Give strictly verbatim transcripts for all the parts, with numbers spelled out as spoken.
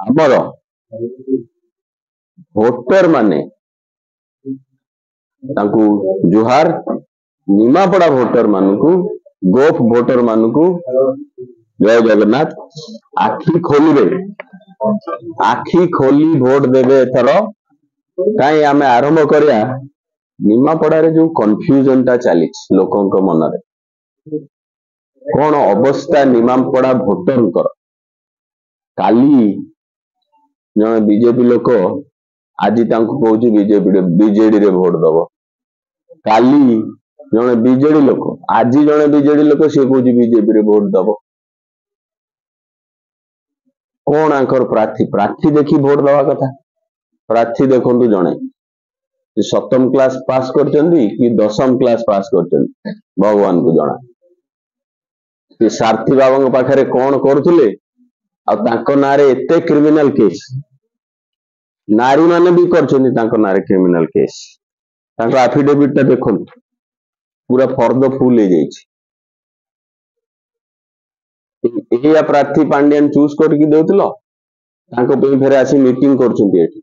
ଆମର ଭୋଟର ମାନେ ତାଙ୍କୁ ଜୁହାର, ନିମାପଡା ଭୋଟର ମାନଙ୍କୁ, ଗୋପ ଭୋଟର ମାନଙ୍କୁ ଜୟ ଜଗନ୍ନାଥ। ଆଖି ଖୋଲିବେ, ଆଖି ଖୋଲି ଭୋଟ ଦେବେ ଏଥର। କାହିଁ ଆମେ ଆରମ୍ଭ କରିବା ନିମାପଡାରେ ଯୋଉ କନଫ୍ୟୁଜନ ଟା ଚାଲିଛି ଲୋକଙ୍କ ମନରେ, କଣ ଅବସ୍ଥା ନିମାପଡା ଭୋଟରଙ୍କର। କାଲି ଜଣେ ବିଜେପି ଲୋକ ଆଜି ତାଙ୍କୁ କହୁଛି ବିଜେପି ବିଜେଡିରେ ଭୋଟ ଦବ, କାଲି ଜଣେ ବିଜେଡି ଲୋକ ଆଜି ଜଣେ ବିଜେଡି ଲୋକ ସିଏ କହୁଛି ବିଜେପିରେ ଭୋଟ ଦବ। କଣ ଆଙ୍କର ପ୍ରାର୍ଥୀ ପ୍ରାର୍ଥୀ ଦେଖି ଭୋଟ ଦବା କଥା? ପ୍ରାର୍ଥୀ ଦେଖନ୍ତୁ, ଜଣେ ସପ୍ତମ କ୍ଲାସ ପାସ୍ କରିଛନ୍ତି କି ଦଶମ କ୍ଲାସ ପାସ୍ କରିଛନ୍ତି ଭଗବାନଙ୍କୁ ଜଣା। ସେ ସାରଥୀ ବାବାଙ୍କ ପାଖରେ କଣ କରୁଥିଲେ, ଆଉ ତାଙ୍କ ନାଁରେ ଏତେ କ୍ରିମିନାଲ କେସ୍, ନାରୀ ମାନେ ବି କରିଛନ୍ତି ତାଙ୍କ ନାଁରେ କ୍ରିମିନାଲ କେସ୍। ତାଙ୍କ ଆଫିଡେଭିଟ ଟା ଦେଖନ୍ତୁ, ପୁରା ଫର୍ଦ ଫୁଲ ହେଇଯାଇଛି। ଏଇଆ ପ୍ରାର୍ଥୀ ପାଣ୍ଡିଆନ ଚୁଜ କରିକି ଦଉଥିଲ, ତାଙ୍କ ପାଇଁ ଫେରେ ଆସି ମିଟିଂ କରୁଛନ୍ତି ଏଠି।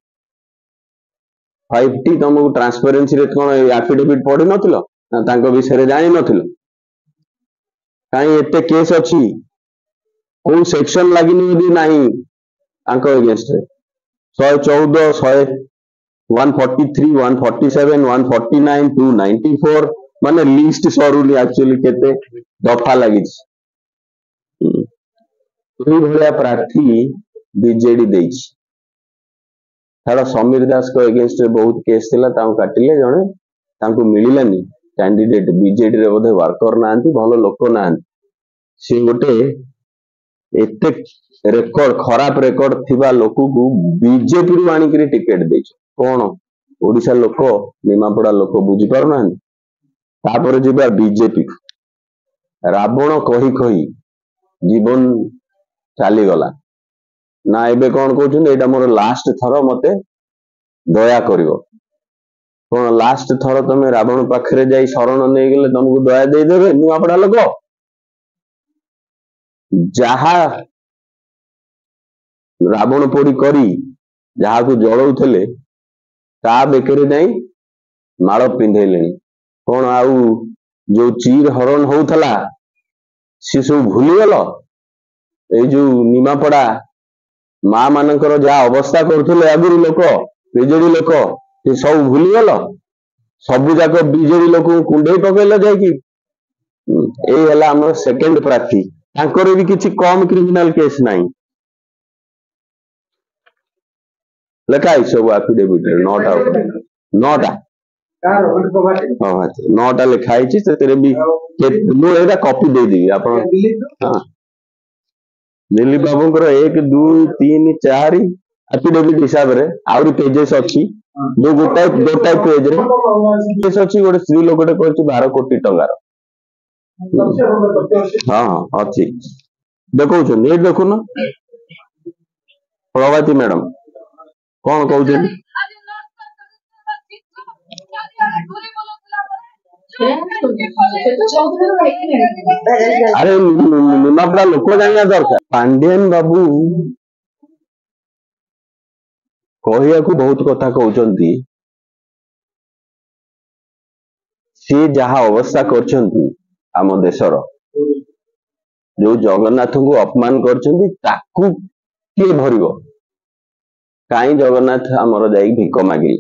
ଫାଇଭ ଟି ତମକୁ ଟ୍ରାନ୍ସପାରେନ୍ସିରେ କଣ ଆଫିଡେଭିଟ ପଢିନଥିଲ ନା ତାଙ୍କ ବିଷୟରେ ଜାଣିନଥିଲ? କାହିଁ ଏତେ କେସ୍ ଅଛି, କୋଉ ସେକ୍ସନ ଲାଗିନି ଯଦି ନାହିଁ ତାଙ୍କ ଏଗେନଷ୍ଟରେ? ଶହେ ଚଉଦ, ଶହେ one forty three, one forty seven, one forty nine, two ninety four, ମାନେ ଲିଷ୍ଟ ସରୁନି ଆକ୍ଚୁଆଲି କେତେ ଦଫା ଲାଗିଛି। ଏଇଭଳିଆ ପ୍ରାର୍ଥୀ ବିଜେଡି ଦେଇଛି। ଛାଡ, ସମୀର ଦାସଙ୍କ ଏଗେନଷ୍ଟରେ ବହୁତ କେସ୍ ଥିଲା, ତାଙ୍କୁ କାଟିଲେ ଜଣେ, ତାଙ୍କୁ ମିଳିଲାନି କ୍ୟାଣ୍ଡିଡେଟ। ବିଜେଡିରେ ବୋଧେ ୱାର୍କର ନାହାନ୍ତି, ଭଲ ଲୋକ ନାହାନ୍ତି। ସିଏ ଗୋଟେ ଏତେ ରେକର୍ଡ, ଖରାପ ରେକର୍ଡ ଥିବା ଲୋକକୁ ବିଜେପିରୁ ଆଣିକିରି ଟିକେଟ ଦେଇଛ। କଣ ଓଡିଶା ଲୋକ, ନିମାପଡା ଲୋକ ବୁଝିପାରୁନାହାନ୍ତି? ତାପରେ ଯିବା ବିଜେପି। ରାବଣ କହି କହି ଜୀବନ ଚାଲିଗଲା ନା, ଏବେ କଣ କହୁଛନ୍ତି ଏଇଟା ମୋର ଲାଷ୍ଟ ଥର, ମତେ ଦୟା କରିବ। କଣ ଲାଷ୍ଟ ଥର ତମେ ରାବଣ ପାଖରେ ଯାଇ ଶରଣ ନେଇଗଲେ ତମକୁ ଦୟା ଦେଇଦେବେ ନିମାପଡା ଲୋକ? ଯାହା ରାବଣ ପୋଡି କରି ଯାହାକୁ ଜଳଉଥିଲେ ତା ବେକରେ ଯାଇ ମାଳ ପିନ୍ଧେଇଲେଣି। କଣ ଆଉ ଯୋଉ ଚିର ହରଣ ହଉଥିଲା ସେ ସବୁ ଭୁଲିଗଲ? ଏଇ ଯୋଉ ନିମାପଡା ମା ମାନଙ୍କର ଯାହା ଅବସ୍ଥା କରୁଥିଲେ ଆଗରୁ ଲୋକ, ବିଜେଡି ଲୋକ, ସେ ସବୁ ଭୁଲିଗଲ? ସବୁ ଯାକ ବିଜେଡି ଲୋକଙ୍କୁ କୁଣ୍ଢେଇ ପକେଇଲ ଯାଇକି। ଏଇ ହେଲା ଆମର ସେକେଣ୍ଡ ପ୍ରାର୍ଥୀ, ତାଙ୍କର ବି କିଛି କମ କ୍ରିମିନାଲ କେସ୍ ନାହିଁ, ଲେଖା ହେଇଛି ସବୁ ଆଫିଡେଭିଟରେ। ନଅଟା ନଅଟା ନଅଟା ଲେଖା ହେଇଛି ସେଥିରେ ବି। ମୁଁ ଏଇଟା କପି ଦେଇଦେବି ଆପଣ। ହଁ, ଦିଲ୍ଲୀପ ବାବୁଙ୍କର ଏକ ଦୁଇ ତିନି ଚାରି ଆଫିଡେଭିଟ ହିସାବରେ ଆହୁରି ପେଜେସ୍ ଅଛି। ଯୋଉ ଗୋଟାଏ ଗୋଟାଏ ପେଜରେ କେସ୍ ଅଛି, ଗୋଟେ ସ୍ତ୍ରୀ ଲୋକଟେ କରିଛି ବାର କୋଟି ଟଙ୍କାର। ହଁ ହଁ ଅଛି, ଦେଖଉଛନ୍ତି ଏଇଠି ଦେଖୁନ। ପ୍ରଭାତୀ ମ୍ୟାଡାମ କଣ କହୁଛନ୍ତି? ଆରେ ନିମାପଡା ଲୋକ ଜାଣିବା ଦରକାର। ପାଣ୍ଡିଆନ ବାବୁ କହିବାକୁ ବହୁତ କଥା କହୁଛନ୍ତି, ସିଏ ଯାହା ଅବସ୍ଥା କରିଛନ୍ତି ଆମ ଦେଶର, ଯୋଉ ଜଗନ୍ନାଥଙ୍କୁ ଅପମାନ କରିଛନ୍ତି ତାକୁ କିଏ ଭରିବ? କାହିଁ ଜଗନ୍ନାଥ ଆମର ଯାଇକି ଭିକ ମାଗିଲେ?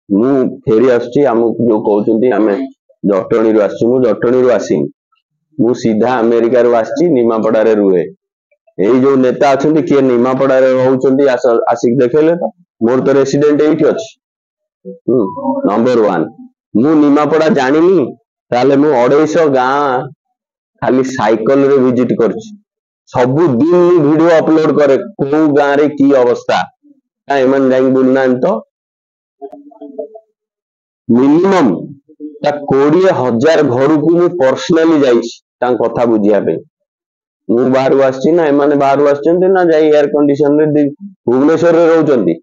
ମୁଁ ଫେରି ଆସୁଛି। ଆମକୁ ଯୋଉ କହୁଛନ୍ତି ଆମେ ଜଟଣୀରୁ ଆସିଛୁ, ମୁଁ ଜଟଣୀରୁ ଆସିନି, ମୁଁ ସିଧା ଆମେରିକାରୁ ଆସିଛି, ନିମାପଡାରେ ରୁହେ। ଏଇ ଯୋଉ ନେତା ଅଛନ୍ତି କିଏ ନିମାପଡାରେ ରହୁଛନ୍ତି ଆସିକି ଦେଖେଇଲେ ତ, ମୋର ତ ରେସିଡେଣ୍ଟ ଏଇଠି ଅଛି। ହୁଁ, ନମ୍ବର ୱାନ, ମୁଁ ନିମାପଡା ଜାଣିନି ତାହେଲେ ମୁଁ ଅଢେଇଶହ ଗାଁ ଖାଲି ସାଇକେଲରେ ଭିଜିଟ କରିଛି। ସବୁଦିନ ମୁଁ ଭିଡିଓ ଅପଲୋଡ କରେ କୋଉ ଗାଁରେ କି ଅବସ୍ଥା। କାଇଁ ଏମାନେ ଯାଇକି ବୁଲୁନାହାନ୍ତି ତ? ମିନିମମ୍ ତା କୋଡିଏ ହଜାର ଘରକୁ ମୁଁ ପର୍ସନାଲି ଯାଇଛି ତାଙ୍କ କଥା ବୁଝିବା ପାଇଁ। ମୁଁ ବାହାରୁ ଆସିଛି ନା ଏମାନେ ବାହାରୁ ଆସିଛନ୍ତି ନା ଯାଇ ଏୟାର କଣ୍ଡିସନରେ ଭୁବନେଶ୍ୱରରେ ରହୁଛନ୍ତି?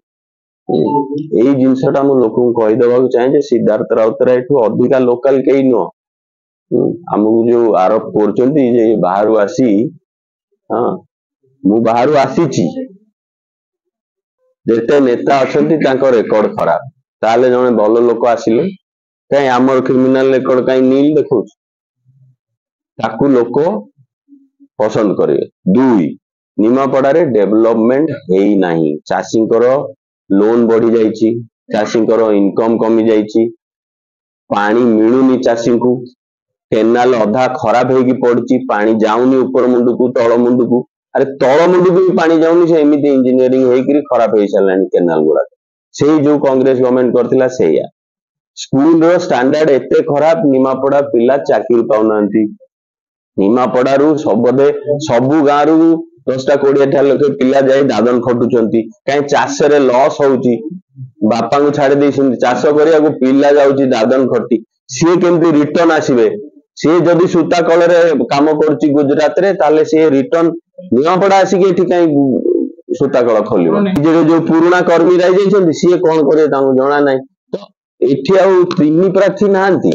ଏଇ ଜିନିଷଟା ମୁଁ ଲୋକଙ୍କୁ କହିଦେବାକୁ ଚାହେଁ ଯେ ସିଦ୍ଧାର୍ଥ ରାଉତରାୟଠୁ ଅଧିକା ଲୋକାଲ କେହି ନୁହଁ। ଆମକୁ ଯୋଉ ଆରୋପ କରୁଛନ୍ତି ଯେ ବାହାରୁ ଆସି, ହଁ ମୁଁ ବାହାରୁ ଆସିଛି। ଯେତେ ନେତା ଅଛନ୍ତି ତାଙ୍କ ରେକର୍ଡ ଖରାପ। ତାହେଲେ ଜଣେ ଭଲ ଲୋକ ଆସିଲେ କାଇଁ ଆମର କ୍ରିମିନାଲ ରେକର୍ଡ କାଇଁ ନିଲ୍ ଦେଖଉଛି? ତାକୁ ଲୋକ ପସନ୍ଦ କରିବେ। ଦୁଇ, ନିମାପଡାରେ ଡେଭଲପମେଣ୍ଟ ହେଇନାହିଁ। ଚାଷୀଙ୍କର ଲୋନ ବଢି ଯାଇଛି, ଚାଷୀଙ୍କର ଇନକମ କମି ଯାଇଛି, ପାଣି ମିଳୁନି ଚାଷୀଙ୍କୁ, କେନାଲ ଅଧା ଖରାପ ହେଇକି ପଡିଛି, ପାଣି ଯାଉନି ଉପର ମୁଣ୍ଡକୁ ତଳ ମୁଣ୍ଡକୁ। ଆରେ ତଳ ମୁଣ୍ଡକୁ ବି ପାଣି ଯାଉନି, ସେ ଏମିତି ଇଞ୍ଜିନିୟରିଂ ହେଇକିରି ଖରାପ ହେଇସାରିଲାଣି କେନାଲ ଗୁଡାକ। ସେଇ ଯୋଉ କଂଗ୍ରେସ ଗଭର୍ଣମେଣ୍ଟ କରିଥିଲା ସେଇଆ। ସ୍କୁଲର ଷ୍ଟାଣ୍ଡାର୍ଡ ଏତେ ଖରାପ, ନିମାପଡା ପିଲା ଚାକିରି ପାଉନାହାନ୍ତି। ନିମାପଡାରୁ ବୋଧେ ସବୁ ଗାଁରୁ ଦଶଟା କୋଡିଏଟା ଲେଖେ ପିଲା ଯାଇ ଦାଦନ ଖଟୁଛନ୍ତି। କାହିଁ ଚାଷରେ ଲସ୍ ହଉଛି, ବାପାଙ୍କୁ ଛାଡି ଦେଇଛନ୍ତି ଚାଷ କରିବାକୁ, ପିଲା ଯାଉଛି ଦାଦନ ଖଟି। ସିଏ କେମିତି ରିଟର୍ନ ଆସିବେ? ସିଏ ଯଦି ସୂତା କଳରେ କାମ କରୁଛି ଗୁଜୁରାତରେ, ତାହେଲେ ସିଏ ରିଟର୍ନ ନିମାପଡା ଆସିକି ଏଠି କାହିଁ ସୂତା କଳ ଖୋଲିବ? ବିଜେଡି ଯୋଉ ପୁରୁଣା କର୍ମୀ ରହିଯାଇଛନ୍ତି ସିଏ କଣ କରିବେ ତାଙ୍କୁ ଜଣା ନାହିଁ। ତ ଏଠି ଆଉ ତିନି ପ୍ରାର୍ଥୀ ନାହାନ୍ତି।